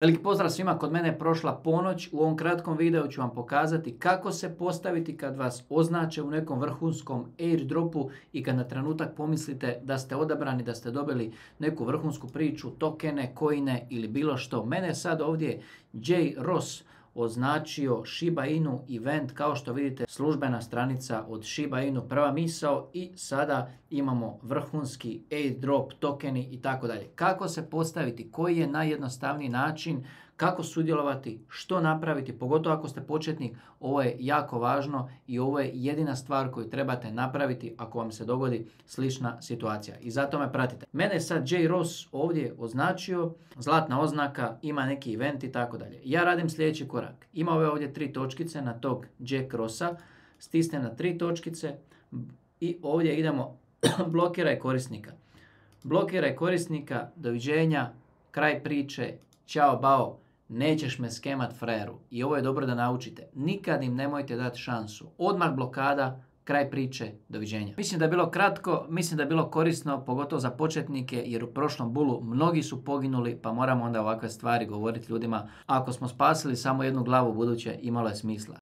Veliki pozdrav svima, kod mene je prošla ponoć. U ovom kratkom videu ću vam pokazati kako se postaviti kad vas označe u nekom vrhunskom airdropu i kad na trenutak pomislite da ste odabrani, da ste dobili neku vrhunsku priču, tokene, coine ili bilo što. Mene je sad ovdje J. Ross označio Shiba Inu event, kao što vidite službena stranica od Shiba Inu, prva misao, i sada imamo vrhunski airdrop, tokeni i tako dalje. Kako se postaviti, koji je najjednostavniji način, kako sudjelovati, što napraviti, pogotovo ako ste početnik, ovo je jako važno i ovo je jedina stvar koju trebate napraviti ako vam se dogodi slična situacija. I zato me pratite. Mene je sad J. Ross ovdje označio, zlatna oznaka, ima neki event i tako dalje. Ja radim sljedeći korak. Ima ove ovdje 3 točkice na tog Jack Rossa, stisnem na 3 točkice i ovdje idemo blokiraj korisnika. Blokiraj korisnika, doviđenja, kraj priče, ćao bao. Nećeš me skemat frajeru. I ovo je dobro da naučite. Nikad im nemojte dati šansu. Odmah blokada, kraj priče, doviđenja. Mislim da je bilo kratko, mislim da je bilo korisno, pogotovo za početnike, jer u prošlom bulu mnogi su poginuli, pa moramo onda ovakve stvari govoriti ljudima. Ako smo spasili samo jednu glavu buduće, imalo je smisla.